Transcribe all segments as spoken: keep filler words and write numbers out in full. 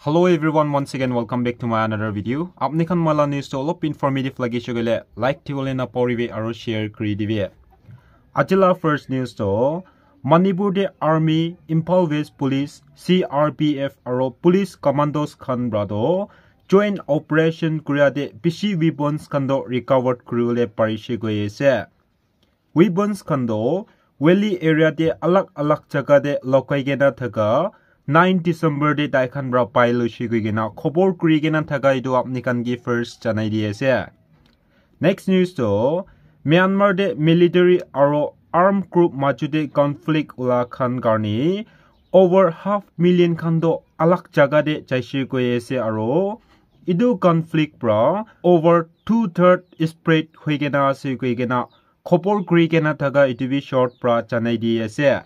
Hello everyone, once again welcome back to my another video. Apni khan moi la news to olop informative lagi shogile like thibole na poribe aro share kuri dibe. Ajila first news to Manipur de Army, Imphal West Police, C R P F aro Police Commandos khan bra do joint operation kuria de bishi weapons khan do recovered kuriwole parishe koi ase. Weapons khan do valley area de alag alag jaga de lokai kena thaka nine December de tai khan bra pai loishe koi kena khobor kuri kena thaka etu apni khan ke first janai di ase. Next news to Myanmar de military aro armed group majo de conflict ula khan karne over half million khan do alag jaga de jaishe koi ase aro etu conflict pra over two third spread hoi kena ase koi kena khobor kuri kena thaka etu bi short pra janai di ase.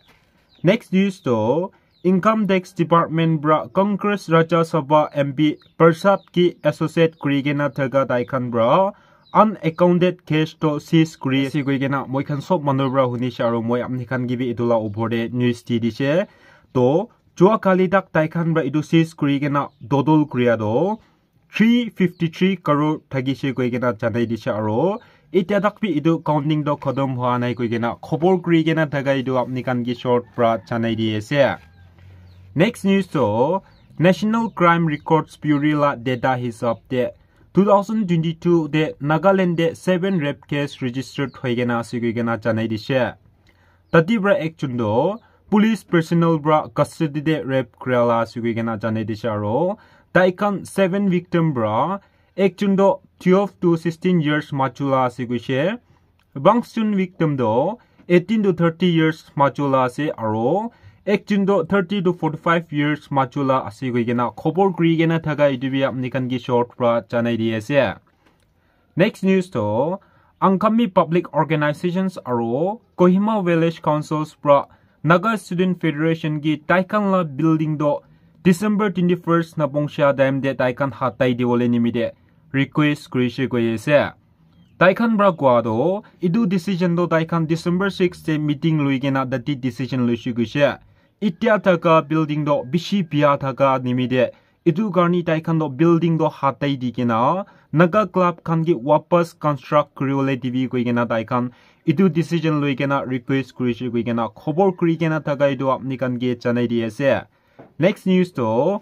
Next news to Income Tax Department pra Congress Rajya Sabha M P Prasad ke associate kuri kena thaka tai khan pra unaccounted cash to seize kuri ase koi kena moi khan sob manu pra hunishe aro moi apni khan ke bi etu la upor de news di dishe. To jua kali tak tai khan pra etu seize kuri kena total kuria do three fifty three crore thakishe koi kena janai dishe aro etia tak bi etu counting to khatam hua nai koi kena khobor kuri kena thaka etu apni khan ke short pra janai di ase. Next news to National Crime Records Bureau la data hisab de two thousand twenty-two de Nagaland de seven rape case registered hoi kena ase koi kena janai dishe. Tati pra ekjon do police personnel pra custody de rape kura la ase koi kena janai dishe aro tai khan seven victim pra ekjon do twelve to sixteen years majo la ase koishe. Bangston victim do eighteen to thirty years majo la ase aro ekjon do thirty to forty-five years majo la ase koi kena khobor kuri kena thaka etu bi apni khan ke short pra janai di ase. Next news to Angami Public Organizations aro Kohima Village Councils pra Naga Student Federation ki tai khan la building do December twenty-first na pongsa time de tai khan hatai dibole nimite request kurishe koi ase. Tai khan pra koa do etu decision do tai khan December six de meeting loi kena dati decision loishe koishe. Etia thaka building do bishi bia thaka nimite etu karne tai khan to building to hatai di kena Naga club khan ke wapas construct kuriwole dibi koi kena tai khan etu decision loi kena request kurishe koi kena khobor kuri kena thaka etu apni khan ke janai di ase. Next news to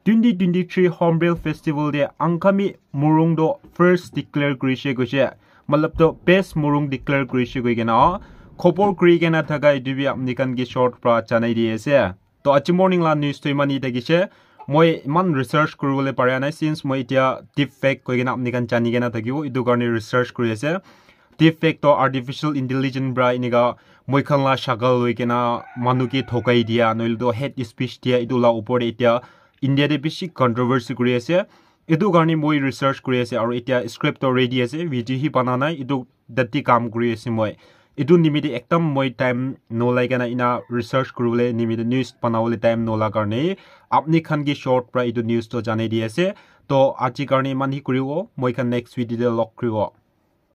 twenty twenty-three Hornbill Festival de Angami Murung do first declare kurishe koishe, matlab to best Murung declare kurishe koi kena khobor kuri kena thaka etu bi apni khan ke short pra janai di ase. To aji morning la news to iman hi thakishe. Moi iman research kuribole pare nai since moi etia deep fake koi kena apni khan jani kena thakibo. Etu karne research kuri ase. Deep fake to artificial intelligence pra enika moi khan la shakal loi kena manu ke thokai dia, noile to hate speech dia, etu la upor de etia India de bishi controversy kuri ase. Etu karne moi research kuri ase, aro etia script to ready ase, video hi bana nai, etu dati kam kuri ase moi. Etu nimite ekdam moi time nolai kena ena research kuribole nimite news banabole time nola karne apni khan ke short pra etu news to janai di ase. To aji karne iman hi kuribo, moi khan next video de log kuribo.